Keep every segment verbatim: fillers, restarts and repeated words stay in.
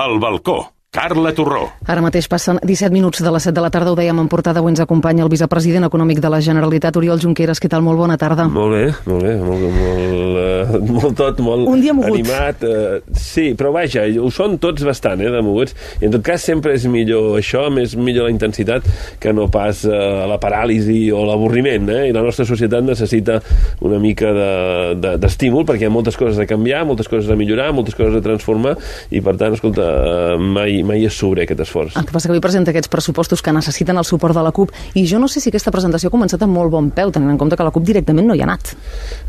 El balcó. Carla Torró. Ara mateix passen disset minuts de les set de la tarda, ho dèiem en portada, avui ens acompanya el vicepresident econòmic de la Generalitat, Oriol Junqueras. Què tal? Molt bona tarda. Molt bé, molt bé, molt, molt, uh, molt tot, molt Un dia mogut. animat. Uh, sí, però vaja, ho són tots bastant, eh, de moguts. I en tot cas sempre és millor això, més millor la intensitat que no pas uh, la paràlisi o l'avorriment, eh? I la nostra societat necessita una mica de, de, d'estímul, perquè hi ha moltes coses a canviar, moltes coses a millorar, moltes coses a transformar, i per tant, escolta, uh, mai mai és sobre aquest esforç. El que passa que avui presenta aquests pressupostos que necessiten el suport de la CUP, i jo no sé si aquesta presentació ha començat amb molt bon peu, tenint en compte que la CUP directament no hi ha anat.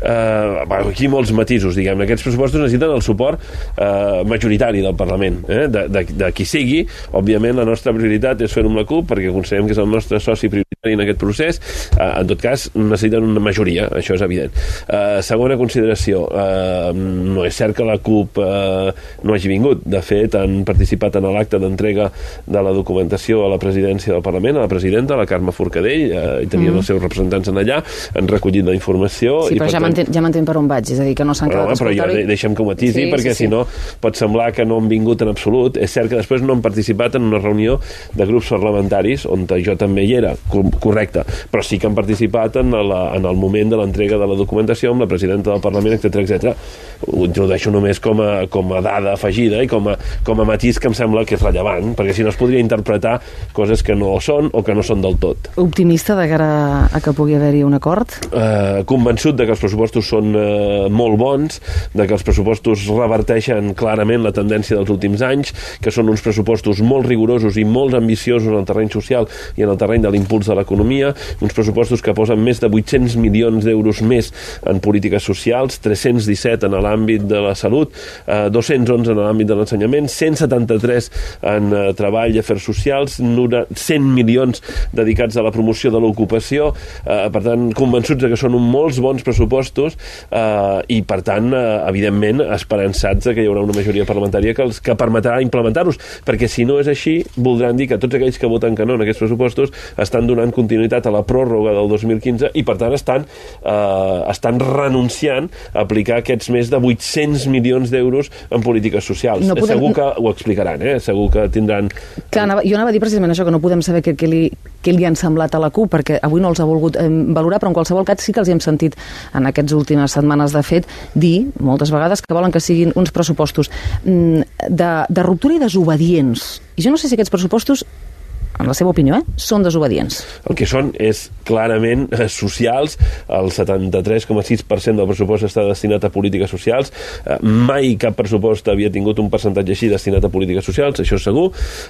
Uh, aquí molts matisos, diguem. Aquests pressupostos necessiten el suport uh, majoritari del Parlament, eh? de, de, de qui sigui. Òbviament la nostra prioritat és fer-ho amb la CUP, perquè considerem que és el nostre soci prioritari en aquest procés. Uh, en tot cas, necessiten una majoria, això és evident. Uh, segona consideració, uh, no és cert que la CUP uh, no hagi vingut. De fet, han participat en l'acte d'entrega de la documentació a la presidència del Parlament, a la presidenta, la Carme Forcadell, eh, i tenien mm. els seus representants en allà, han recollit la informació... Sí, i però ja tant... m'entén ja m'entén per on vaig, és a dir, que no s'han quedat no, però jo de deixem que ho matisi, sí, perquè sí, sí. si no pot semblar que no han vingut en absolut. És cert que després no han participat en una reunió de grups parlamentaris, on jo també hi era, correcte, però sí que han participat en, la, en el moment de l'entrega de la documentació amb la presidenta del Parlament, etcètera, etcètera. Ho introdueixo només com a, com a dada afegida i com a, com a matís que em sembla que és rellevant, perquè si no es podria interpretar coses que no són o que no són del tot. Optimista de cara a que pugui haver-hi un acord? Uh, convençut de que els pressupostos són uh, molt bons, de que els pressupostos reverteixen clarament la tendència dels últims anys, que són uns pressupostos molt rigorosos i molt ambiciosos en el terreny social i en el terreny de l'impuls de l'economia, uns pressupostos que posen més de vuit-cents milions d'euros més en polítiques socials, tres-cents disset en l'àmbit de la salut, uh, dos-cents onze en l'àmbit de l'ensenyament, cent setanta-tres en uh, treball i afers socials, cent milions dedicats a la promoció de l'ocupació, eh, per tant, convençuts de que són molts bons pressupostos eh, i, per tant, eh, evidentment, esperançats de que hi haurà una majoria parlamentària que els que permetrà implementar-los, perquè si no és així, voldran dir que tots aquells que voten que no en aquests pressupostos estan donant continuïtat a la pròrroga del dos mil quinze i, per tant, estan, eh, estan renunciant a aplicar aquests més de vuit-cents milions d'euros en polítiques socials. No podem... Segur que ho explicaran, eh? Segur que tindran... Clar, anava, jo anava a dir precisament això, que no podem saber què, què, li, què li han semblat a la CUP, perquè avui no els ha volgut eh, valorar, però en qualsevol cas sí que els hi hem sentit en aquestes últimes setmanes, de fet, dir moltes vegades que volen que siguin uns pressupostos mm, de, de ruptura i desobedients. I jo no sé si aquests pressupostos, en la seva opinió, eh, són desobedients. El que són és clarament eh, socials. El setanta-tres coma sis per cent del pressupost està destinat a polítiques socials. Eh, mai cap pressupost havia tingut un percentatge així destinat a polítiques socials, això és segur.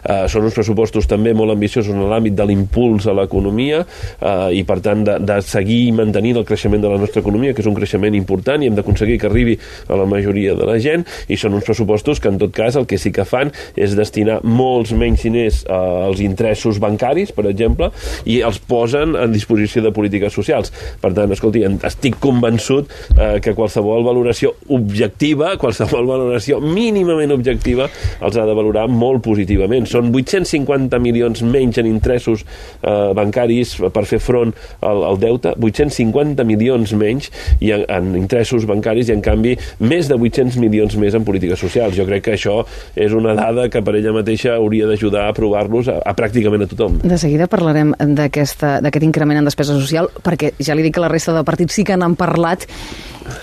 Eh, són uns pressupostos també molt ambiciosos en l'àmbit de l'impuls a l'economia eh, i, per tant, de, de seguir mantenint el creixement de la nostra economia, que és un creixement important i hem d'aconseguir que arribi a la majoria de la gent, i són uns pressupostos que, en tot cas, el que sí que fan és destinar molts menys diners eh, als interessos bancaris, per exemple, i els posen a disposició de polítiques socials. Per tant, escolti, estic convençut eh, que qualsevol valoració objectiva, qualsevol valoració mínimament objectiva, els ha de valorar molt positivament. Són vuit-cents cinquanta milions menys en interessos eh, bancaris per fer front al, al deute, vuit-cents cinquanta milions menys i en, en interessos bancaris, i en canvi més de vuit-cents milions més en polítiques socials. Jo crec que això és una dada que per ella mateixa hauria d'ajudar a aprovar-los a, a pràcticament a tothom. De seguida parlarem d'aquest increment en despesa social, perquè ja li dic que la resta de partits sí que n'han parlat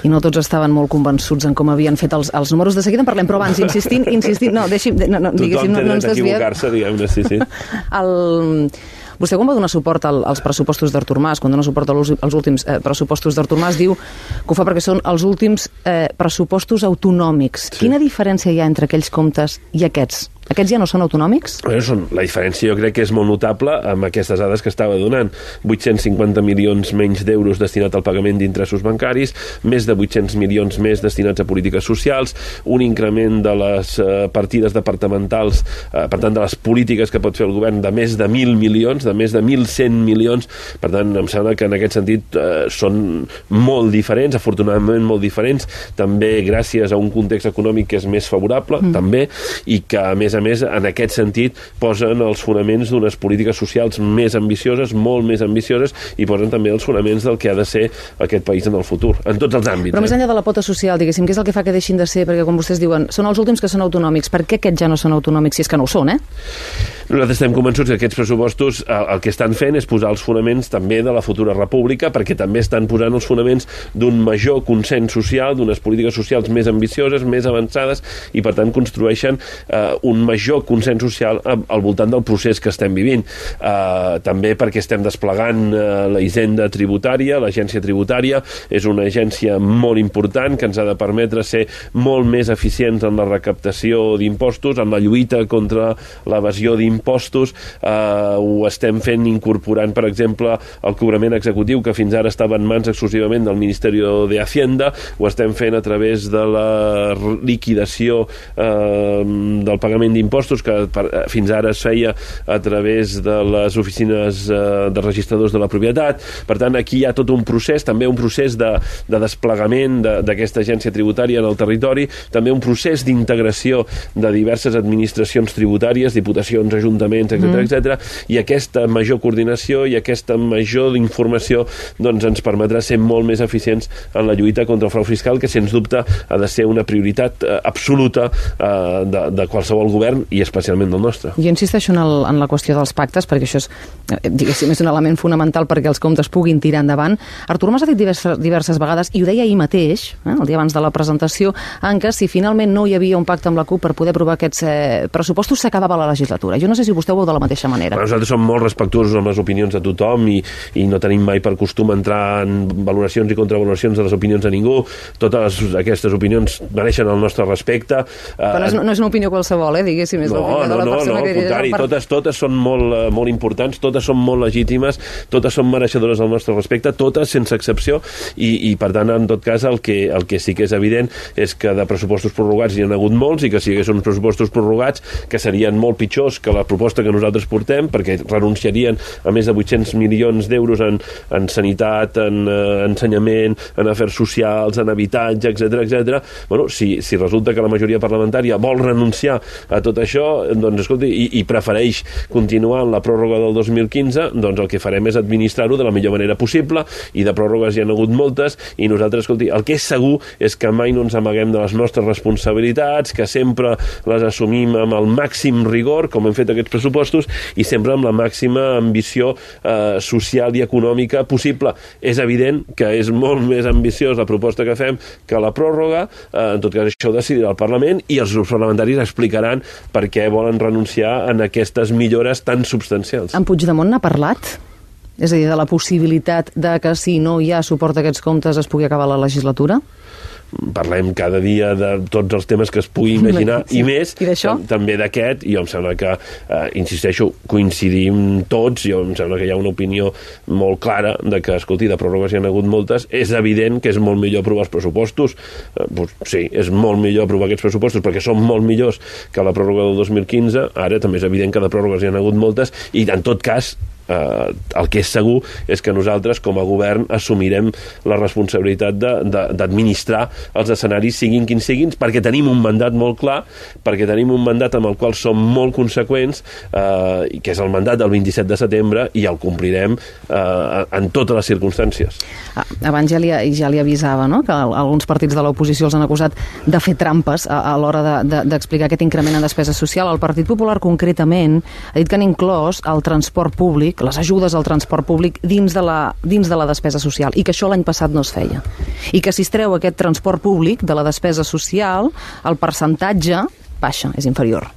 i no tots estaven molt convençuts en com havien fet els, els números. De seguida en parlem, però abans, insistint, insistint, no, deixi'm, no, no, diguéssim, no, no ens desviem. Tothom té dret a equivocar-se, diguem-ne, sí, sí. El... Vostè, quan va donar suport al, als pressupostos d'Artur Mas, quan dona suport als, als últims eh, pressupostos d'Artur Mas, diu que ho fa perquè són els últims eh, pressupostos autonòmics. Sí. Quina diferència hi ha entre aquells comptes i aquests? Aquests ja no són autonòmics? Bueno, són, la diferència jo crec que és molt notable amb aquestes dades que estava donant. vuit-cents cinquanta milions menys d'euros destinat al pagament d'interessos bancaris, més de vuit-cents milions més destinats a polítiques socials, un increment de les eh, partides departamentals, eh, per tant, de les polítiques que pot fer el govern, de més de mil milions, de més de mil cent milions. Per tant, em sembla que en aquest sentit eh, són molt diferents, afortunadament molt diferents, també gràcies a un context econòmic que és més favorable, mm. també, i que, a més a a més, en aquest sentit, posen els fonaments d'unes polítiques socials més ambicioses, molt més ambicioses, i posen també els fonaments del que ha de ser aquest país en el futur, en tots els àmbits. Però eh? més enllà de la pota social, diguéssim, què és el que fa que deixin de ser? Perquè, com vostès diuen, són els últims que són autonòmics. Per què aquests ja no són autonòmics, si és que no ho són, eh? Nosaltres estem convençuts que aquests pressupostos el, el que estan fent és posar els fonaments també de la futura república, perquè també estan posant els fonaments d'un major consens social, d'unes polítiques socials més ambicioses, més avançades, i per tant construeixen eh, un major consens social al voltant del procés que estem vivint. Eh, també perquè estem desplegant eh, la hisenda tributària, l'agència tributària és una agència molt important que ens ha de permetre ser molt més eficients en la recaptació d'impostos, en la lluita contra l'evasió d'impostos. Eh, ho estem fent incorporant, per exemple, el cobrament executiu, que fins ara estava en mans exclusivament del Ministeri de Hacienda, ho estem fent a través de la liquidació eh, del pagament d'impostos, que per, fins ara es feia a través de les oficines eh, de registradors de la propietat. Per tant, aquí hi ha tot un procés, també un procés de, de desplegament d'aquesta agència tributària en el territori, també un procés d'integració de diverses administracions tributàries, diputacions, ajuntaments, etcètera, mm. etcètera, i aquesta major coordinació i aquesta major informació doncs, ens permetrà ser molt més eficients en la lluita contra el frau fiscal, que sens dubte ha de ser una prioritat eh, absoluta eh, de, de qualsevol govern i especialment del nostre. Jo insisteixo en, el, en la qüestió dels pactes, perquè això és, diguéssim, és un element fonamental perquè els comptes puguin tirar endavant. Artur Mas ha dit diverses, diverses vegades, i ho deia ahir mateix, eh, el dia abans de la presentació, en què si finalment no hi havia un pacte amb la CUP per poder aprovar aquests eh, pressupostos, s'acabava la legislatura. Jo no sé si vostè ho veu de la mateixa manera. Però nosaltres som molt respectuosos amb les opinions de tothom i, i no tenim mai per costum entrar en valoracions i contravaloracions de les opinions de ningú. Totes aquestes opinions mereixen el nostre respecte. Però no és, no és una opinió qualsevol, eh, diguéssim, és no, l'opinió no, de la no, persona no, que... al contrari, per... totes, totes són molt, molt importants, totes són molt legítimes, totes són mereixedores del nostre respecte, totes sense excepció, i, i per tant, en tot cas, el que, el que sí que és evident és que de pressupostos prorrogats hi ha hagut molts, i que si hi hagués uns pressupostos prorrogats que serien molt pitjors que la proposta que nosaltres portem, perquè renunciarien a més de vuit-cents milions d'euros en, en sanitat, en eh, ensenyament, en afers socials, en habitatge, etcètera, etcètera. Bueno, si, si resulta que la majoria parlamentària vol renunciar a tot això, doncs, escolti, i, i prefereix continuar en la pròrroga del dos mil quinze, doncs el que farem és administrar-ho de la millor manera possible, i de pròrrogues hi ha hagut moltes, i nosaltres, escolti, el que és segur és que mai no ens amaguem de les nostres responsabilitats, que sempre les assumim amb el màxim rigor, com hem fet aquests pressupostos, i sempre amb la màxima ambició eh, social i econòmica possible. És evident que és molt més ambiciós la proposta que fem que la pròrroga, eh, en tot cas això ho decidirà el Parlament, i els grups parlamentaris explicaran per què volen renunciar en aquestes millores tan substancials. En Puigdemont n'ha parlat? És a dir, de la possibilitat de que si no hi ha suport a aquests comptes es pugui acabar la legislatura? Parlem cada dia de tots els temes que es pugui imaginar, sí. I més, I també d'aquest, i jo em sembla que, eh, insisteixo, coincidim tots, jo em sembla que hi ha una opinió molt clara de que, escolti, de pròrrogues hi ha hagut moltes, és evident que és molt millor aprovar els pressupostos, eh, doncs, sí, és molt millor aprovar aquests pressupostos perquè són molt millors que la pròrroga del dos mil quinze, ara també és evident que de pròrrogues hi ha hagut moltes, i en tot cas, Uh, el que és segur és que nosaltres com a govern assumirem la responsabilitat d'administrar els escenaris siguin quins siguin, perquè tenim un mandat molt clar, perquè tenim un mandat amb el qual som molt conseqüents, uh, que és el mandat del vint-i-set de setembre, i el complirem uh, en totes les circumstàncies. Ah, abans ja li, ja li avisava, no?, que alguns partits de l'oposició els han acusat de fer trampes a, a l'hora d'explicar de, de, aquest increment en despesa social. El Partit Popular concretament ha dit que han inclòs el transport públic, les ajudes al transport públic dins de, la, dins de la despesa social, i que això l'any passat no es feia. I que si es treu aquest transport públic de la despesa social, el percentatge baixa, és inferior.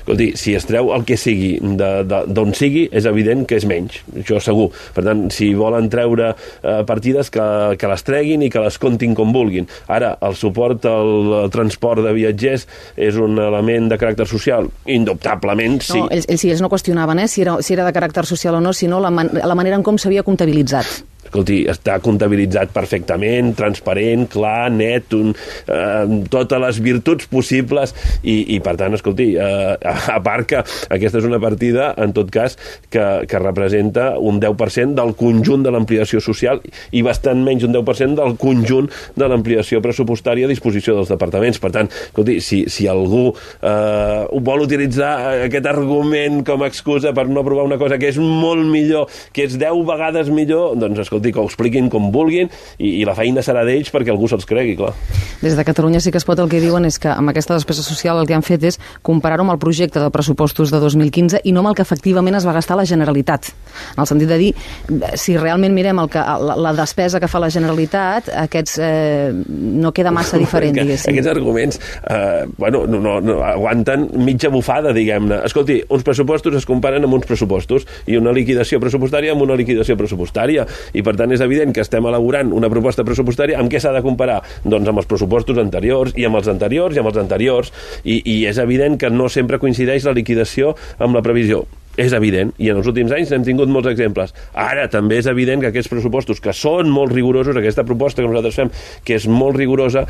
Escolti, si es treu el que sigui d'on sigui, és evident que és menys, això segur. Per tant, si volen treure eh, partides, que, que les treguin i que les comptin com vulguin. Ara, el suport al, al transport de viatgers és un element de caràcter social? Indubtablement, sí. No, ells, ells, ells no qüestionaven eh, si, era, si era de caràcter social o no, sinó la, man, la manera en com s'havia comptabilitzat. escolti, està comptabilitzat perfectament, transparent, clar, net, un, eh, totes les virtuts possibles i, i per tant, escolti, eh, a part que aquesta és una partida, en tot cas, que, que representa un deu per cent del conjunt de l'ampliació social i bastant menys un deu per cent del conjunt de l'ampliació pressupostària a disposició dels departaments. Per tant, escolti, si, si algú eh, vol utilitzar aquest argument com a excusa per no aprovar una cosa que és molt millor, que és deu vegades millor, doncs escolti, que ho expliquin com vulguin i, i la feina serà d'ells perquè algú se'ls cregui, clar. Des de Catalunya Sí que es pot el que diuen és que amb aquesta despesa social el que han fet és comparar-ho amb el projecte de pressupostos de dos mil quinze i no amb el que efectivament es va gastar la Generalitat. En el sentit de dir, si realment mirem el que, la, la despesa que fa la Generalitat, aquests eh, no queda massa diferent, diguéssim. Aquests arguments eh, bueno, no, no, no, aguanten mitja bufada, diguem-ne. Escolti, uns pressupostos es comparen amb uns pressupostos i una liquidació pressupostària amb una liquidació pressupostària i per tant és evident que estem elaborant una proposta pressupostària. Amb què s'ha de comparar? Doncs amb els pressupostos anteriors i amb els anteriors i amb els anteriors i, i és evident que no sempre coincideix la liquidació amb la previsió. És evident, i en els últims anys n'hem tingut molts exemples. Ara també és evident que aquests pressupostos, que són molt rigorosos, aquesta proposta que nosaltres fem, que és molt rigorosa,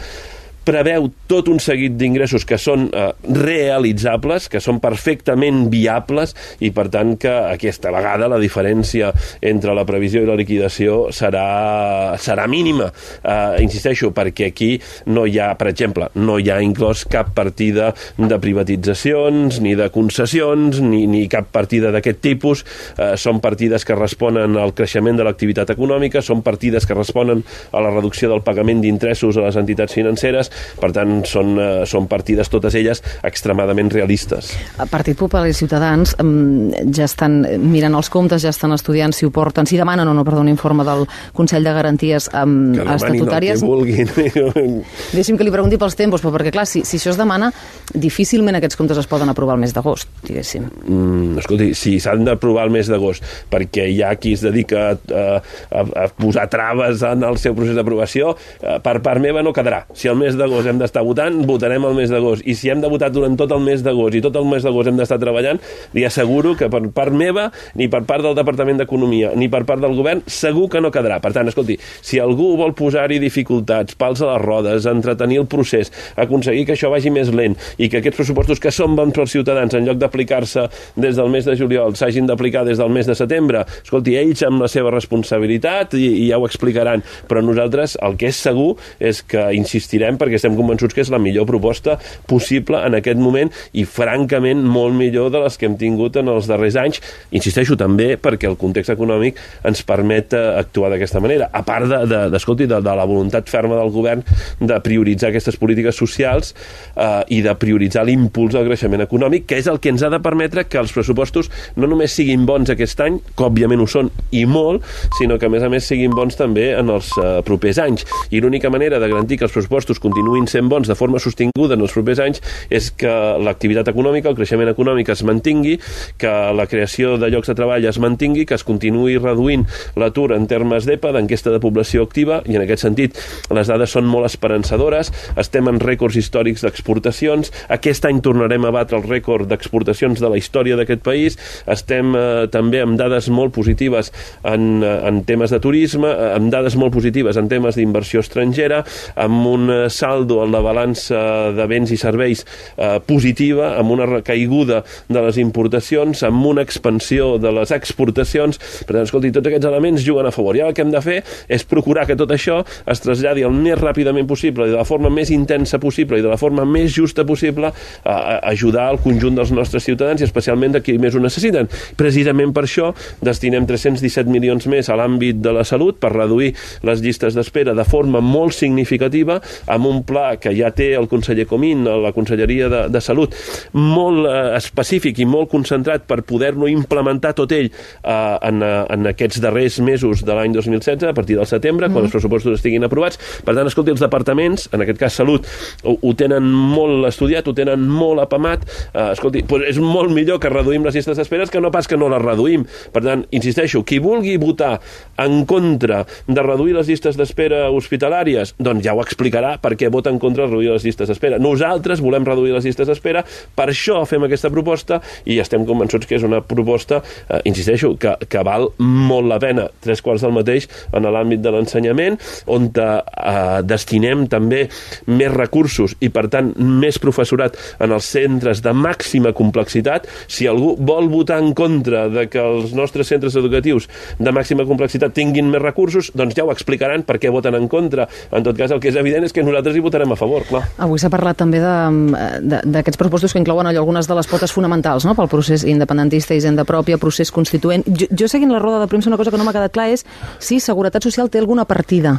preveu tot un seguit d'ingressos que són eh, realitzables, que són perfectament viables i per tant que aquesta vegada la diferència entre la previsió i la liquidació serà, serà mínima. Eh, insisteixo, perquè aquí no hi ha, per exemple, no hi ha inclòs cap partida de privatitzacions, ni de concessions, ni, ni cap partida d'aquest tipus. Eh, són partides que responen al creixement de l'activitat econòmica, són partides que responen a la reducció del pagament d'interessos a les entitats financeres. Per tant, són, uh, són partides, totes elles, extremadament realistes. El Partit Popular i Ciutadans um, ja estan mirant els comptes, ja estan estudiant si ho porten, si demanen o no, perdó, un informe del Consell de Garanties um, que estatutàries. Que vulguin. Deixi'm que li pregunti pels tempos, però perquè, clar, si, si això es demana, difícilment aquests comptes es poden aprovar el mes d'agost, diguéssim. Mm, escolti, sí, s'han d'aprovar el mes d'agost, perquè hi ha qui es dedica a, a, a posar traves en el seu procés d'aprovació. Per part meva no quedarà. Si el mes d'agost hem d'estar votant, votarem el mes d'agost. I si hem de votar durant tot el mes d'agost i tot el mes d'agost hem d'estar treballant, li asseguro que per part meva, ni per part del Departament d'Economia, ni per part del govern, segur que no quedarà. Per tant, escolti, si algú vol posar-hi dificultats, pals a les rodes, entretenir el procés, aconseguir que això vagi més lent i que aquests pressupostos que són bons pels ciutadans, en lloc d'aplicar-se des del mes de juliol, s'hagin d'aplicar des del mes de setembre, escolti, ells amb la seva responsabilitat i, i ja ho explicaran. Però nosaltres el que és segur és que insistirem perquè estem convençuts que és la millor proposta possible en aquest moment i francament molt millor de les que hem tingut en els darrers anys. Insisteixo també perquè el context econòmic ens permet actuar d'aquesta manera. A part de, de, de, de, de la voluntat ferma del govern de prioritzar aquestes polítiques socials eh, i de prioritzar l'impuls al creixement econòmic, que és el que ens ha de permetre que els pressupostos no només siguin bons aquest any, que òbviament ho són i molt, sinó que a més a més siguin bons també en els eh, propers anys. I l'única manera de garantir que els pressupostos continuïn sent bons de forma sostinguda en els propers anys és que l'activitat econòmica, el creixement econòmic es mantingui, que la creació de llocs de treball es mantingui, que es continuï reduint l'atur en termes d'E P A, d'enquesta de població activa, i en aquest sentit les dades són molt esperançadores, estem en rècords històrics d'exportacions, aquest any tornarem a batre el rècord d'exportacions de la història d'aquest país, estem eh, també amb dades molt positives en, en temes de turisme, amb dades molt positives en temes d'inversió estrangera, amb un saldo en la balança de béns i serveis eh, positiva, amb una recaiguda de les importacions, amb una expansió de les exportacions. Per tant, escolti, tots aquests elements juguen a favor. I ara el que hem de fer és procurar que tot això es traslladi el més ràpidament possible i de la forma més intensa possible i de la forma més justa possible a, a ajudar el conjunt dels nostres ciutadans i especialment de qui més ho necessiten. Precisament per això destinem tres-cents disset milions més a l'àmbit de la salut per reduir les llistes d'espera de forma molt significativa, amb un pla que ja té el conseller Comín a la Conselleria de, de Salut, molt eh, específic i molt concentrat per poder-lo implementar tot ell eh, en, en aquests darrers mesos de l'any dos mil setze, a partir del setembre, mm. quan els pressupostos estiguin aprovats. Per tant, escolti, els departaments, en aquest cas Salut, ho, ho tenen molt estudiat, ho tenen molt apamat. Eh, escolti, doncs és molt millor que reduïm les llistes d'espera que no pas que no les reduïm. Per tant, insisteixo, qui vulgui votar en contra de reduir les llistes d'espera hospitalàries, doncs ja ho explicarà perquè vota en contra de reduir les llistes d'espera. Nosaltres volem reduir les llistes d'espera, per això fem aquesta proposta i estem convençuts que és una proposta, eh, insisteixo, que, que val molt la pena, tres quarts del mateix en l'àmbit de l'ensenyament, on eh, destinem també més recursos i, per tant, més professorat en els centres de màxima complexitat. Si algú vol votar en contra de que els nostres centres educatius de màxima complexitat tinguin més recursos, doncs ja ho explicaran per què voten en contra. En tot cas, el que és evident és que nosaltres hi votarem a favor, clar. Avui s'ha parlat també d'aquests pressupostos que inclouen allò, algunes de les potes fonamentals, no?, pel procés independentista, hisenda pròpia, procés constituent. Jo, jo seguint la roda de premsa, una cosa que no m'ha quedat clar és si Seguretat Social té alguna partida.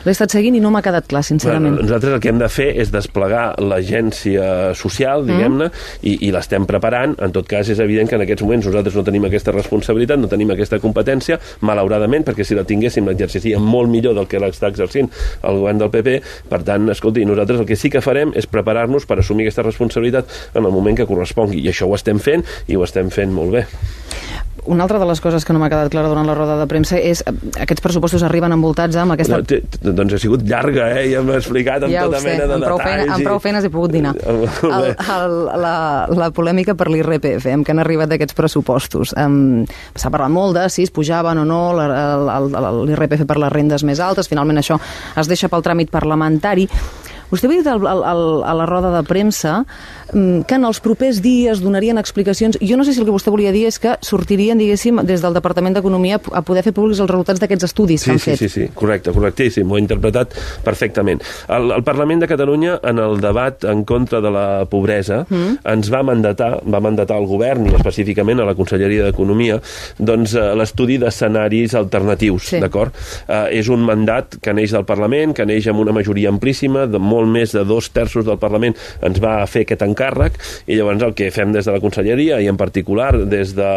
L'he estat seguint i no m'ha quedat clar, sincerament. Bueno, nosaltres el que hem de fer és desplegar l'agència social, diguem-ne, mm. i, i l'estem preparant. En tot cas, és evident que en aquests moments nosaltres no tenim aquesta responsabilitat, no tenim aquesta competència, malauradament, perquè si la tinguéssim l'exerciríem molt millor del que l'està exercint el govern del P P. Per tant, escolti, nosaltres el que sí que farem és preparar-nos per assumir aquesta responsabilitat en el moment que correspongui. I això ho estem fent i ho estem fent molt bé. Una altra de les coses que no m'ha quedat clara durant la roda de premsa és aquests pressupostos arriben envoltats amb aquesta... No, doncs ha sigut llarga, eh? Ja m'ha explicat amb ja tota mena de detalls. Feina, amb prou feines he pogut dinar. El, el, la, la polèmica per l'I R P F, amb què han arribat aquests pressupostos. Um, S'ha parlat molt de si es pujaven o no l'I R P F per les rendes més altes. Finalment això es deixa pel tràmit parlamentari. Vostè ha dit al, al, a la roda de premsa que en els propers dies donarien explicacions. Jo no sé si el que vostè volia dir és que sortirien, diguéssim, des del Departament d'Economia a poder fer públics els resultats d'aquests estudis sí, que han sí, fet. Sí, sí, sí, correcte, correctíssim, ho he interpretat perfectament. El, el Parlament de Catalunya, en el debat en contra de la pobresa, mm. ens va mandatar, va mandatar al govern, i específicament a la Conselleria d'Economia, doncs eh, l'estudi d'escenaris alternatius, sí. D'acord? Eh, és un mandat que neix del Parlament, que neix amb una majoria amplíssima, de molt més de dos terços del Parlament ens va fer aquest encàrrec, i llavors el que fem des de la Conselleria, i en particular des de,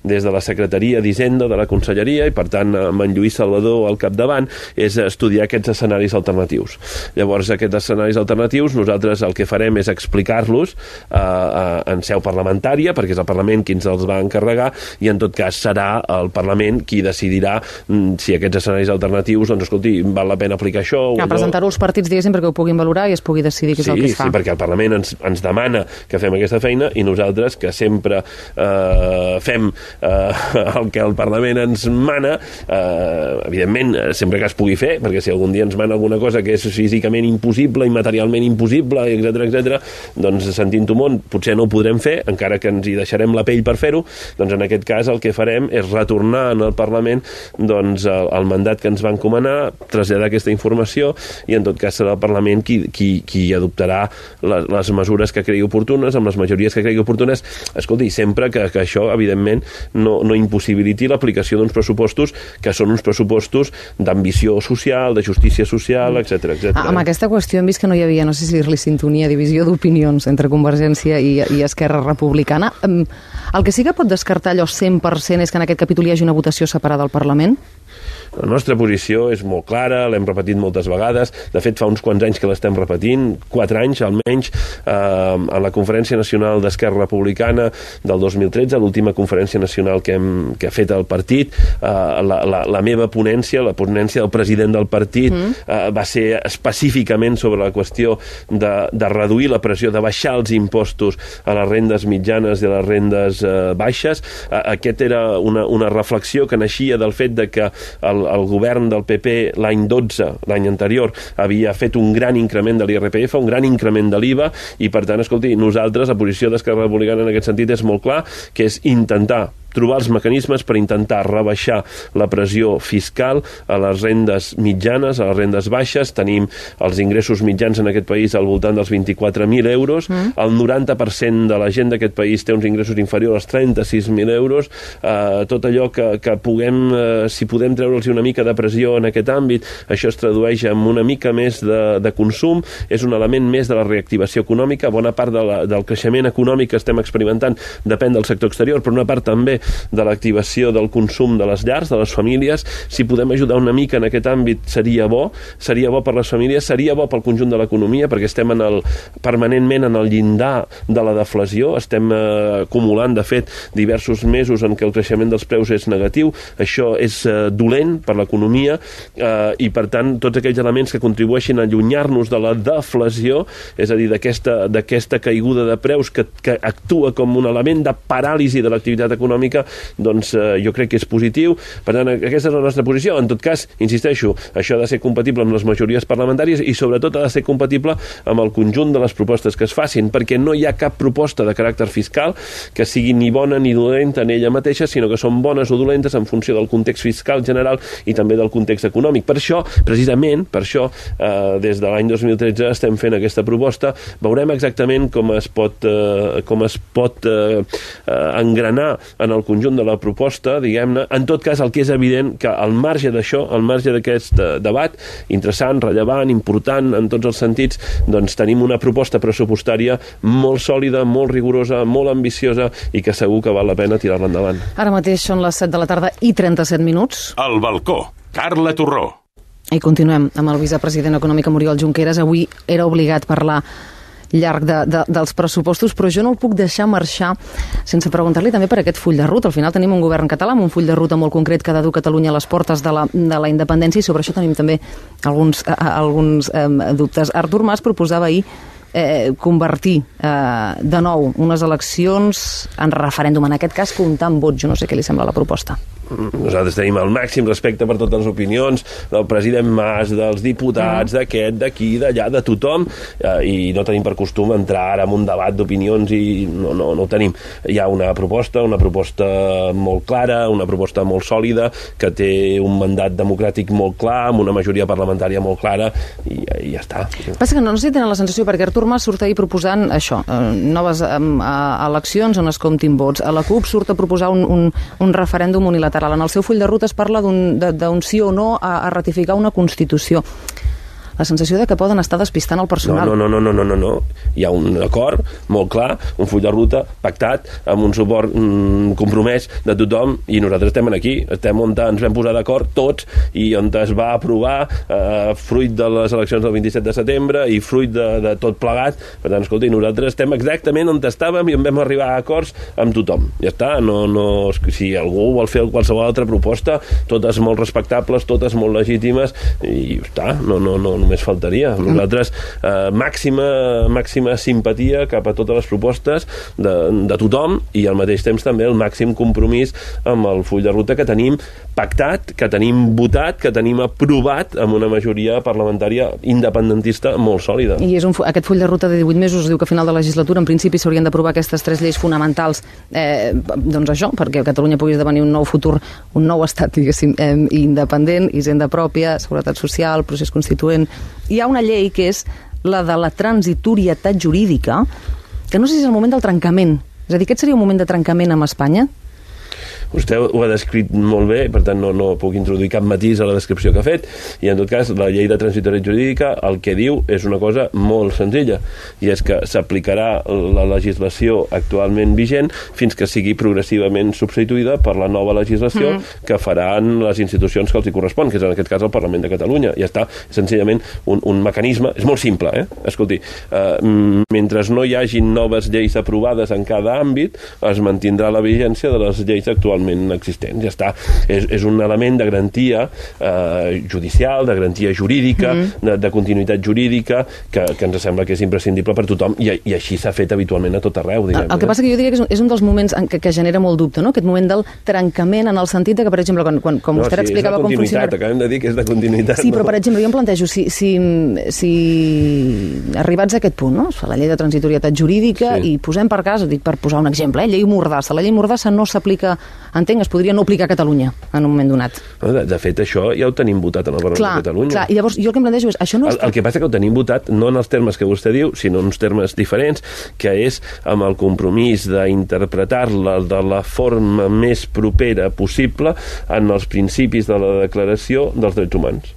des de la Secretaria d'Hisenda de la Conselleria, i per tant amb en Lluís Salvador al capdavant, és estudiar aquests escenaris alternatius. Llavors aquests escenaris alternatius nosaltres el que farem és explicar-los eh, eh, en seu parlamentària, perquè és el Parlament qui ens els va encarregar, i en tot cas serà el Parlament qui decidirà mm, si aquests escenaris alternatius, doncs escolti, val la pena aplicar això o no. Presentar-ho als partits, diguéssim, perquè ho puguin valorar i es pugui decidir què és sí, el que es fa. Sí, perquè el Parlament ens, ens demana que fem aquesta feina, i nosaltres, que sempre eh, fem eh, el que el Parlament ens mana, eh, evidentment, sempre que es pugui fer, perquè si algun dia ens mana alguna cosa que és físicament impossible i materialment impossible, etcètera, etcètera, doncs sentint-ho molt, potser no ho podrem fer, encara que ens hi deixarem la pell per fer-ho, doncs en aquest cas el que farem és retornar en el Parlament doncs, el, el mandat que ens va encomanar, traslladar aquesta informació, i en tot cas serà el Parlament qui, qui, qui adoptarà les, les mesures que cregui oportunes, amb les majories que cregui oportunes, escolti, sempre que, que això, evidentment, no, no impossibiliti l'aplicació d'uns pressupostos que són uns pressupostos d'ambició social, de justícia social, etcètera, etcètera. Amb aquesta qüestió hem vist que no hi havia, no sé si dir-li sintonia, divisió d'opinions entre Convergència i, i Esquerra Republicana. El que sí que pot descartar allò cent per cent és que en aquest capítol hi hagi una votació separada al Parlament? La nostra posició és molt clara, l'hem repetit moltes vegades, de fet fa uns quants anys que l'estem repetint, quatre anys almenys, eh, en la Conferència Nacional d'Esquerra Republicana del dos mil tretze, l'última conferència nacional que, hem, que ha fet el partit, eh, la, la, la meva ponència, la ponència del president del partit, mm. eh, va ser específicament sobre la qüestió de, de reduir la pressió, de baixar els impostos a les rendes mitjanes i a les rendes eh, baixes. Eh, aquest era una, una reflexió que naixia del fet de que el, el govern del P P l'any dotze, l'any anterior, havia fet un gran increment de l'I R P F, un gran increment de l'I V A, i per tant, escolti, nosaltres, la posició d'Esquerra Republicana en aquest sentit és molt clar, que és intentar trobar els mecanismes per intentar rebaixar la pressió fiscal a les rendes mitjanes, a les rendes baixes. Tenim els ingressos mitjans en aquest país al voltant dels vint-i-quatre mil euros. Mm. El noranta per cent de la gent d'aquest país té uns ingressos inferiors als trenta-sis mil euros. Eh, tot allò que, que puguem, eh, si podem treure'ls una mica de pressió en aquest àmbit, això es tradueix en una mica més de, de consum, és un element més de la reactivació econòmica. Bona part de la, del creixement econòmic que estem experimentant depèn del sector exterior, però una part també de l'activació del consum de les llars, de les famílies. Si podem ajudar una mica en aquest àmbit seria bo, seria bo per les famílies, seria bo pel conjunt de l'economia, perquè estem en el, permanentment en el llindar de la deflació, estem eh, acumulant, de fet, diversos mesos en què el creixement dels preus és negatiu. Això és eh, dolent per l'economia eh, i, per tant, tots aquells elements que contribueixin a allunyar-nos de la deflació, és a dir, d'aquesta d'aquesta caiguda de preus que, que actua com un element de paràlisi de l'activitat econòmica, doncs eh, jo crec que és positiu. Per tant, aquesta és la nostra posició. En tot cas, insisteixo, això ha de ser compatible amb les majories parlamentàries i sobretot ha de ser compatible amb el conjunt de les propostes que es facin, perquè no hi ha cap proposta de caràcter fiscal que sigui ni bona ni dolenta en ella mateixa, sinó que són bones o dolentes en funció del context fiscal general i també del context econòmic. Per això, precisament, per això, eh, des de l'any dos mil tretze estem fent aquesta proposta. Veurem exactament com es pot, eh, com es pot eh, engranar en el conjunt de la proposta, diguem-ne. En tot cas, el que és evident que al marge d'això, al marge d'aquest eh, debat, interessant, rellevant, important en tots els sentits, doncs tenim una proposta pressupostària molt sòlida, molt rigorosa, molt ambiciosa i que segur que val la pena tirar-la endavant. Ara mateix són les set de la tarda i trenta-set minuts. Al balcó, Carla Torró. I continuem amb el vicepresident econòmic Oriol Junqueras. Avui era obligat a parlar llarg de, de, dels pressupostos, però jo no el puc deixar marxar sense preguntar-li també per aquest full de ruta. Al final tenim un govern català amb un full de ruta molt concret que ha de dur Catalunya a les portes de la, de la independència, i sobre això tenim també alguns, eh, alguns eh, dubtes. Artur Mas proposava ahir eh, convertir eh, de nou unes eleccions en referèndum, en aquest cas comptar amb vots. Jo no sé què li sembla la proposta. Nosaltres tenim el màxim respecte per totes les opinions del president Mas, dels diputats, mm. d'aquest, d'aquí, d'allà, de tothom, eh, i no tenim per costum entrar ara en un debat d'opinions i no, no, no ho tenim. Hi ha una proposta, una proposta molt clara, una proposta molt sòlida, que té un mandat democràtic molt clar, amb una majoria parlamentària molt clara, i, i ja està. Passa que no, no sé si tenen la sensació, perquè Artur Mas surt ahir proposant això, eh, noves eh, eleccions on es comptin vots. A la CUP surt a proposar un, un, un referèndum unilateral. En el seu full de ruta es parla d'un sí o no a, a ratificar una Constitució. La sensació de que poden estar despistant el personal. No, no, no, no, no, no, no. Hi ha un acord molt clar, un full de ruta pactat, amb un suport mm, compromès de tothom, i nosaltres estem aquí, estem on ens vam posar d'acord tots, i on es va aprovar eh, fruit de les eleccions del vint-i-set de setembre i fruit de, de tot plegat. Per tant, escolta, nosaltres estem exactament on estàvem i on vam arribar a acords amb tothom. Ja està, no, no, si algú vol fer qualsevol altra proposta, totes molt respectables, totes molt legítimes, i ja està, no, no, no, només faltaria. Nosaltres, eh, màxima, màxima simpatia cap a totes les propostes de, de tothom, i al mateix temps també el màxim compromís amb el full de ruta que tenim pactat, que tenim votat, que tenim aprovat amb una majoria parlamentària independentista molt sòlida. I és un, aquest full de ruta de divuit mesos diu que a final de legislatura en principi s'haurien d'aprovar aquestes tres lleis fonamentals, eh, doncs això, perquè Catalunya pugui esdevenir un nou futur, un nou estat, diguéssim, eh, independent, hisenda pròpia, seguretat social, procés constituent. Hi ha una llei que és la de la transitorietat jurídica, que no sé si és el moment del trencament. És a dir, aquest seria un moment de trencament amb Espanya? Vostè ho ha descrit molt bé, per tant no, no puc introduir cap matís a la descripció que ha fet, i en tot cas la llei de transitorietat jurídica el que diu és una cosa molt senzilla, i és que s'aplicarà la legislació actualment vigent fins que sigui progressivament substituïda per la nova legislació mm. que faran les institucions que els hi correspon, que és en aquest cas el Parlament de Catalunya. Ja està, senzillament un, un mecanisme, és molt simple, eh? Escolti, eh, mentre no hi hagin noves lleis aprovades en cada àmbit, es mantindrà la vigència de les lleis actualment existents. Ja està. És, és un element de garantia eh, judicial, de garantia jurídica, mm. de, de continuïtat jurídica, que, que ens sembla que és imprescindible per tothom, i, i així s'ha fet habitualment a tot arreu. Diguem, el, el que passa que jo diria que és un, és un dels moments en què, que genera molt dubte, no? Aquest moment del trencament, en el sentit de que, per exemple, quan, quan, com no, vostè sí, explicava com funciona... Acabem de dir que és de continuïtat. Sí, no? però, per exemple, jo em plantejo, si, si, si arribats a aquest punt, no? La llei de transitorietat jurídica, sí. I posem per cas, dic per posar un exemple, eh? Llei Mordassa. La llei Mordassa no s'aplica, entenc, es podria no aplicar a Catalunya en un moment donat. De, de fet, això ja ho tenim votat en el Parlament clar, de Catalunya. Clar, i llavors jo el que em plantejo és... Això no el, el que passa que ho tenim votat no en els termes que vostè diu, sinó en uns termes diferents, que és amb el compromís d'interpretar-la de la forma més propera possible en els principis de la Declaració dels Drets Humans.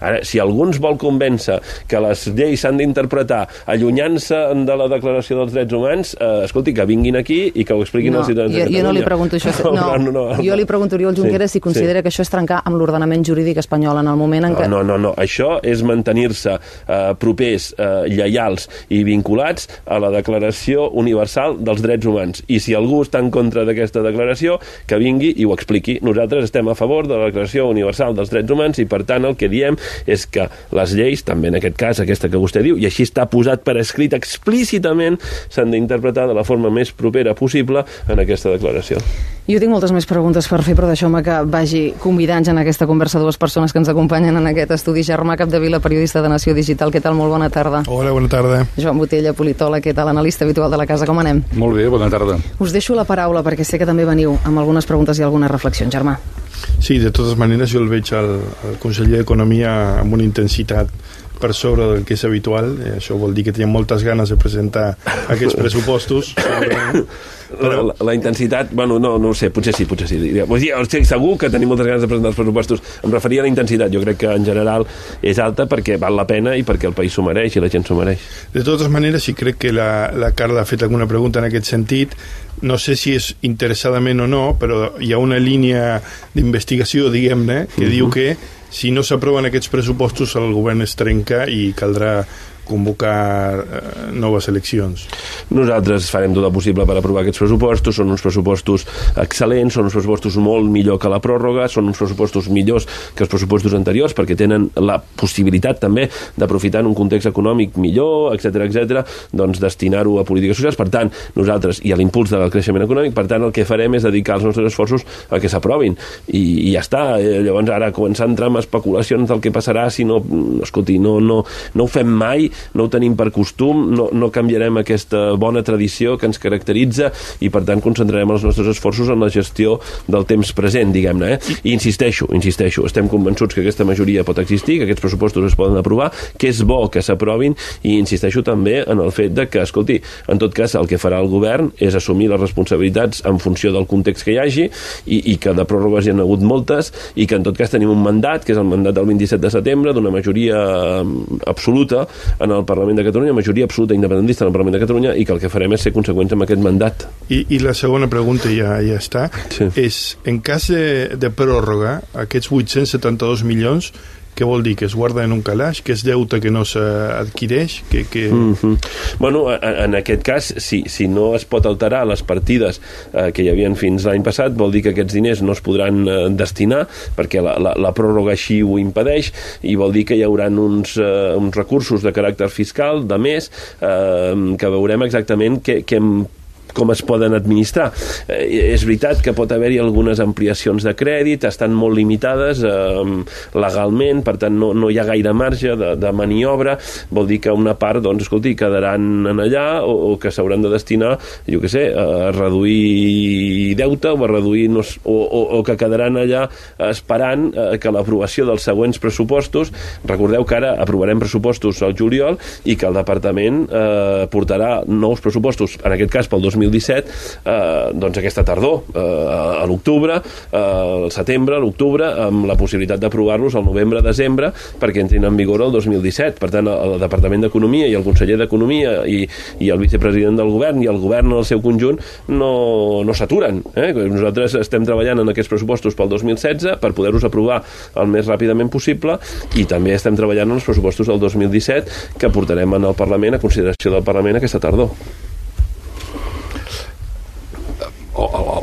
Ara, si algú ens vol convèncer que les lleis s'han d'interpretar allunyant-se de la Declaració dels Drets Humans, eh, escolti, que vinguin aquí i que ho expliquin no, als ciutadans jo, de Catalunya. Jo no li pregunto això. No, no, no, no, jo li pregunto a Oriol Junqueras sí, si considera sí. que això és trencar amb l'ordenament jurídic espanyol en el moment en què... No, no, no, això és mantenir-se eh, propers, eh, lleials i vinculats a la Declaració Universal dels Drets Humans. I si algú està en contra d'aquesta declaració, que vingui i ho expliqui. Nosaltres estem a favor de la Declaració Universal dels Drets Humans i, per tant, el que diem és que les lleis, també en aquest cas, aquesta que vostè diu, i així està posat per escrit explícitament, s'han d'interpretar de la forma més propera possible en aquesta declaració. Jo tinc moltes més preguntes per fer, però deixeu-me que vagi convidant en aquesta conversa dues persones que ens acompanyen en aquest estudi. Germà Capdevila, periodista de Nació Digital. Què tal? Molt bona tarda. Hola, bona tarda. Joan Botella, politòleg. Què tal? Analista habitual de la casa. Com anem? Molt bé, bona tarda. Us deixo la paraula perquè sé que també veniu amb algunes preguntes i algunes reflexions. Germà. Sí, de totes maneres jo el veig al, al conseller d'Economia amb una intensitat per sobre del que és habitual. Eh, això vol dir que tenen moltes ganes de presentar aquests pressupostos. Però... La, la intensitat, bueno, no, no ho sé, potser sí, potser sí. Vull dir, estic segur que tenim moltes ganes de presentar els pressupostos. Em referia a la intensitat, jo crec que en general és alta perquè val la pena i perquè el país s'ho mereix i la gent s'ho mereix. De totes maneres, sí crec que la, la Carla ha fet alguna pregunta en aquest sentit. No sé si és interessadament o no, però hi ha una línia d'investigació, diguem-ne, que uh-huh. diu que si no s'aproven aquests pressupostos el govern es trenca i caldrà convocar eh, noves eleccions. Nosaltres farem tot el possible per aprovar aquests pressupostos. Són uns pressupostos excel·lents, són uns pressupostos molt millor que la pròrroga, són uns pressupostos millors que els pressupostos anteriors perquè tenen la possibilitat també d'aprofitar en un context econòmic millor, etcètera, etcètera, doncs destinar-ho a polítiques socials. Per tant, nosaltres, i a l'impuls del creixement econòmic, per tant, el que farem és dedicar els nostres esforços a que s'aprovin. I, i ja està. Llavors, ara començar a entrar en especulacions del que passarà si no... Escolti, no, no, no ho fem mai, no ho tenim per costum, no, no canviarem aquesta bona tradició que ens caracteritza i, per tant, concentrarem els nostres esforços en la gestió del temps present, diguem-ne. Eh? I insisteixo, insisteixo, estem convençuts que aquesta majoria pot existir, que aquests pressupostos es poden aprovar, que és bo que s'aprovin, i insisteixo també en el fet de que, escolti, en tot cas, el que farà el govern és assumir les responsabilitats en funció del context que hi hagi i, i que de pròrrogues hi ha hagut moltes i que, en tot cas, tenim un mandat, que és el mandat del vint-i-set de setembre, d'una majoria absoluta en el Parlament de Catalunya, majoria absoluta independentista en el Parlament de Catalunya, i que el que farem és ser conseqüents amb aquest mandat. I, i la segona pregunta ja, ja està, sí. és, en cas de, de pròrroga, aquests vuit-cents setanta-dos milions, què vol dir? Que es guarda en un calaix? Que és deute que no s'adquireix? Que, que... Mm-hmm. Bueno, en aquest cas, si, si no es pot alterar les partides eh, que hi havien fins l'any passat, vol dir que aquests diners no es podran eh, destinar, perquè la, la, la pròrroga així ho impedeix, i vol dir que hi haurà uns, eh, uns recursos de caràcter fiscal, de més, eh, que veurem exactament què, què com es poden administrar. Eh, és veritat que pot haver-hi algunes ampliacions de crèdit, estan molt limitades eh, legalment, per tant no, no hi ha gaire marge de, de maniobra, vol dir que una part, doncs, escolti, quedaran en allà o, o que s'hauran de destinar, jo què sé, a reduir deute o a reduir, no, o, o, o que quedaran allà esperant eh, que l'aprovació dels següents pressupostos, recordeu que ara aprovarem pressupostos al juliol i que el departament eh, portarà nous pressupostos, en aquest cas pel dos mil disset, eh, doncs aquesta tardor, eh, a l'octubre, eh, al setembre, a l'octubre, amb la possibilitat d'aprovar-los al novembre-desembre perquè entrin en vigor el dos mil disset. Per tant, el Departament d'Economia i el conseller d'Economia i, i el vicepresident del govern i el govern en el seu conjunt no, no s'aturen. Eh? Nosaltres estem treballant en aquests pressupostos pel dos mil setze per poder-los aprovar el més ràpidament possible, i també estem treballant en els pressupostos del dos mil disset que portarem en el Parlament, a consideració del Parlament, aquesta tardor.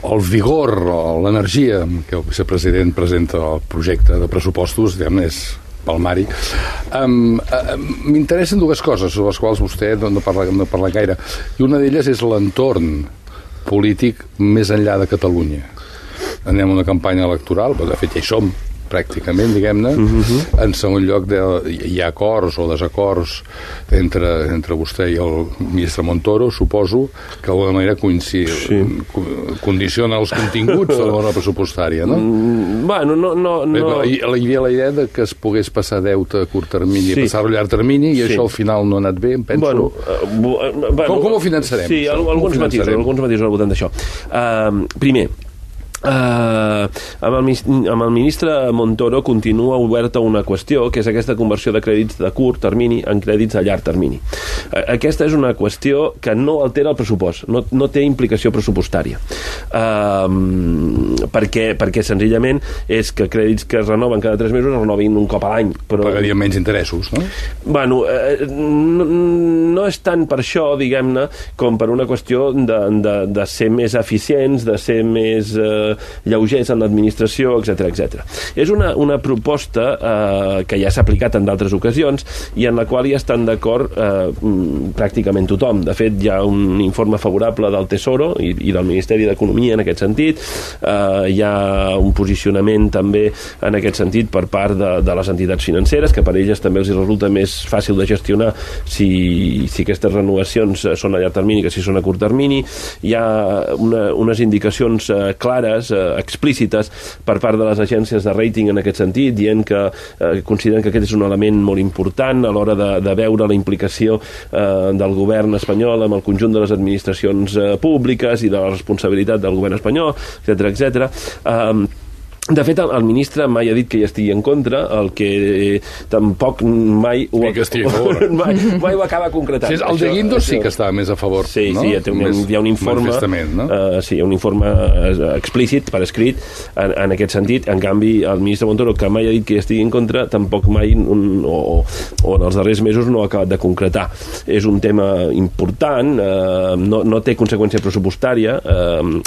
El vigor, l'energia que el vicepresident presenta el projecte de pressupostos, diguem, és palmari. Um, uh, M'interessen dues coses sobre les quals vostè no parla, no parla gaire, i una d'elles és l'entorn polític més enllà de Catalunya. Anem a una campanya electoral, però de fet ja hi som, pràcticament, diguem-ne. Uh-huh. En segon lloc, de, hi ha acords o desacords entre, entre vostè i el ministre Montoro, suposo, que d'alguna manera coincid, sí. condiciona els continguts de l'hora pressupostària, no? Mm, bueno, no... no, no. Hi havia la idea de que es pogués passar deute a curt termini sí. i passar-ho a llarg termini, i sí. això al final no ha anat bé, em penso. Bueno, uh, bueno, com, com ho finançarem? Sí, alguns matisos, alguns matisos al voltant d'això. Uh, primer, Uh, amb, el, amb el ministre Montoro continua oberta una qüestió, que és aquesta conversió de crèdits de curt termini en crèdits a llarg termini. Uh, aquesta és una qüestió que no altera el pressupost, no, no té implicació pressupostària, uh, perquè, perquè senzillament és que crèdits que es renoven cada tres mesos es renovin un cop a l'any, però... Pagarien menys interessos, no? Bueno, uh, no, no és tant per això, diguem-ne, com per una qüestió de, de, de ser més eficients, de ser més... Uh, lleugers en l'administració, etcètera, etcètera. És una, una proposta eh, que ja s'ha aplicat en d'altres ocasions i en la qual hi estan d'acord eh, pràcticament tothom. De fet, hi ha un informe favorable del Tesoro i, i del Ministeri d'Economia en aquest sentit. Eh, hi ha un posicionament també en aquest sentit per part de, de les entitats financeres, que per elles també els resulta més fàcil de gestionar si, si aquestes renovacions són a llarg termini que si són a curt termini. Hi ha una, unes indicacions eh, clares explícites per part de les agències de rating en aquest sentit, dient que eh, consideren que aquest és un element molt important a l'hora de, de veure la implicació eh, del govern espanyol amb el conjunt de les administracions eh, públiques i de la responsabilitat del govern espanyol, etcètera, etcètera. Eh, De fet, el, el ministre mai ha dit que hi estigui en contra, el que eh, tampoc mai ho, que estigui a favor. mai, mai ho acaba concretant. Sí, el de Guindos sí que estava més a favor, sí, no? Sí, sí, un, hi ha un informe, no? uh, sí, un informe explícit, per escrit, en, en aquest sentit. En canvi, el ministre Montoro, que mai ha dit que hi estigui en contra, tampoc mai, un, o, o en els darrers mesos, no ha acabat de concretar. És un tema important, uh, no, no té conseqüència pressupostària, uh,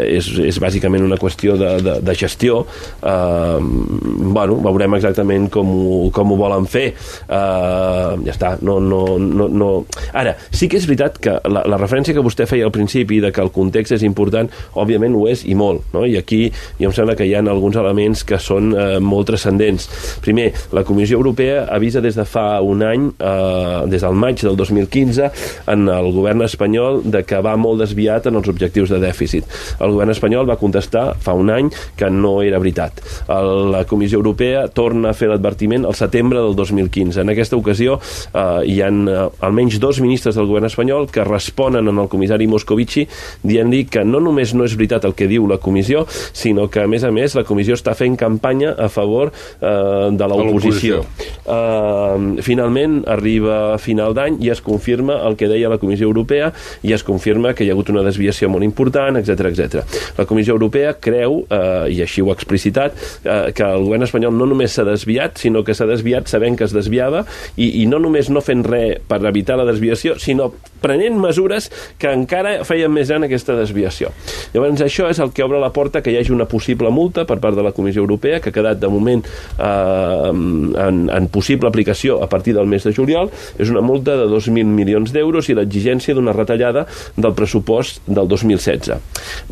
és, és bàsicament una qüestió de, de, de gestió. Uh, bueno, veurem exactament com ho, com ho volen fer. Uh, ja està, no, no, no, no. Ara, sí que és veritat que la, la referència que vostè feia al principi de que el context és important, òbviament ho és i molt, no? I aquí jo em sembla que hi ha alguns elements que són uh, molt transcendents. Primer, la Comissió Europea avisa des de fa un any, uh, des del maig del dos mil quinze, en el govern espanyol de que va molt desviat en els objectius de dèficit. El govern espanyol va contestar fa un any que no era veritat. La Comissió Europea torna a fer l'advertiment al setembre del dos mil quinze. En aquesta ocasió eh, hi ha eh, almenys dos ministres del govern espanyol que responen en el comissari Moscovici dient-li que no només no és veritat el que diu la comissió, sinó que a més a més la comissió està fent campanya a favor eh, de l'oposició. Eh, finalment arriba a final d'any i es confirma el que deia la Comissió Europea i es confirma que hi ha hagut una desviació molt important, etcètera, etcètera. La Comissió Europea creu, eh, i així ho ha explicitat, eh, que el govern espanyol no només s'ha desviat, sinó que s'ha desviat sabent que es desviava i, i no només no fent res per evitar la desviació, sinó prenent mesures que encara feien més gran aquesta desviació. Llavors això és el que obre la porta que hi hagi una possible multa per part de la Comissió Europea, que ha quedat de moment eh, en, en possible aplicació a partir del mes de juliol. És una multa de dos mil milions d'euros i l'exigència d'una retallada del pressupost del dos mil setze.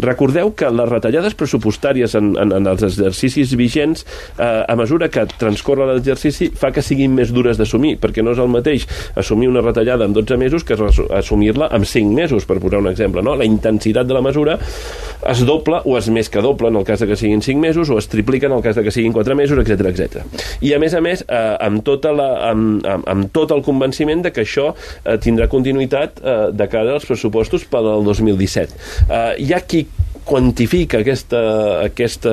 Recordeu que les retallades pressupostàries en, en, en els exercicis vigents, eh, a mesura que transcorre l'exercici, fa que siguin més dures d'assumir, perquè no és el mateix assumir una retallada en dotze mesos que assumir-la en cinc mesos, per posar un exemple, no? La intensitat de la mesura es doble o és més que doble en el cas de que siguin cinc mesos o es triplica en el cas de que siguin quatre mesos, etcètera, etcètera. I a més a més, eh, amb, tota la, amb, amb, amb tot el convenciment de que això eh, tindrà continuïtat eh, de cara als pressupostos per al dos mil disset. Eh, hi ha qui quantifica aquesta, aquest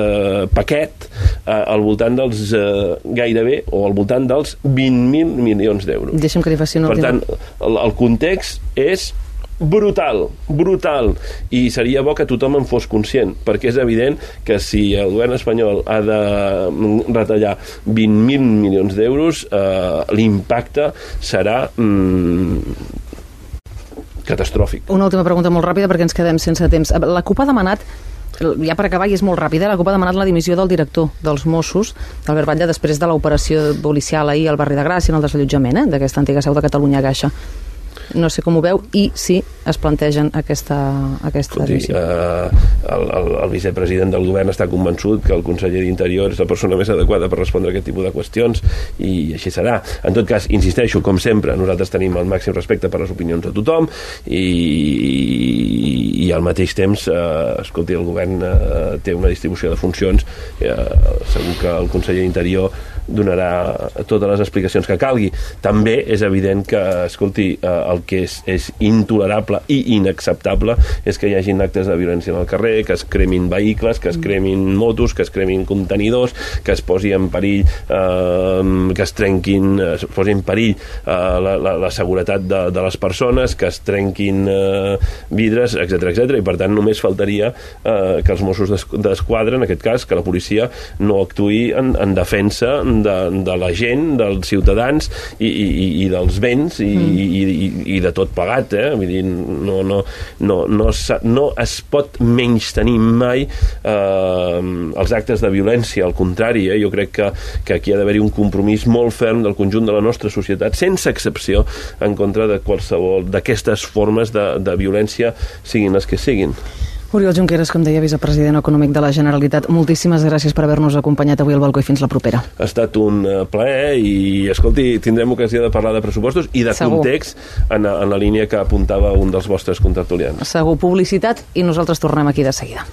paquet eh, al voltant dels eh, gairebé, o al voltant dels vint mil milions d'euros. Deixa'm que li faci una Per última... tant, el, el context és brutal, brutal, i seria bo que tothom en fos conscient, perquè és evident que si el govern espanyol ha de retallar vint mil milions d'euros, eh, l'impacte serà mm, catastròfic. Una última pregunta molt ràpida perquè ens quedem sense temps. La CUP ha demanat, ja per acabar i és molt ràpida, la CUP ha demanat la dimissió del director dels Mossos, d'Albert Batlle, després de l'operació policial ahir al barri de Gràcia, en el desallotjament eh, d'aquesta antiga seu de Catalunya Caixa. No sé com ho veu i si es plantegen aquesta, aquesta Escolti, dimissió. Eh, el, el, el vicepresident del govern està convençut que el conseller d'Interior és la persona més adequada per respondre a aquest tipus de qüestions i així serà. En tot cas, insisteixo, com sempre, nosaltres tenim el màxim respecte per les opinions de tothom i, i, i al mateix temps, eh, escolti, el govern eh, té una distribució de funcions, eh, segur que el conseller d'Interior donarà totes les explicacions que calgui. També és evident que, escolti, el que és, és intolerable i inacceptable és que hi hagin actes de violència en el carrer, que es cremin vehicles, que es cremin motos, que es cremin contenidors, que es posi en perill, eh, que es trenquin, es posi en perill eh, la, la, la seguretat de, de les persones, que es trenquin eh, vidres, etcètera, etcètera. I per tant només faltaria eh, que els Mossos d'Esquadra, en aquest cas, que la policia no actuï en, en defensa de, de la gent, dels ciutadans i, i, i dels béns i, mm. i, i, i de tot pagat, eh? Vull dir, no, no, no, no, no es pot menystenir mai eh, els actes de violència, al contrari, eh? Jo crec que, que aquí ha d'haver-hi un compromís molt ferm del conjunt de la nostra societat, sense excepció, en contra de qualsevol d'aquestes formes de, de violència, siguin les que siguin. Oriol Junqueras, com deia, vicepresident econòmic de la Generalitat, moltíssimes gràcies per haver-nos acompanyat avui al balcó i fins la propera. Ha estat un plaer i, escolti, tindrem ocasió de parlar de pressupostos i de Segur. Context en, en la línia que apuntava un dels vostres contertulians. Segur, publicitat i nosaltres tornem aquí de seguida.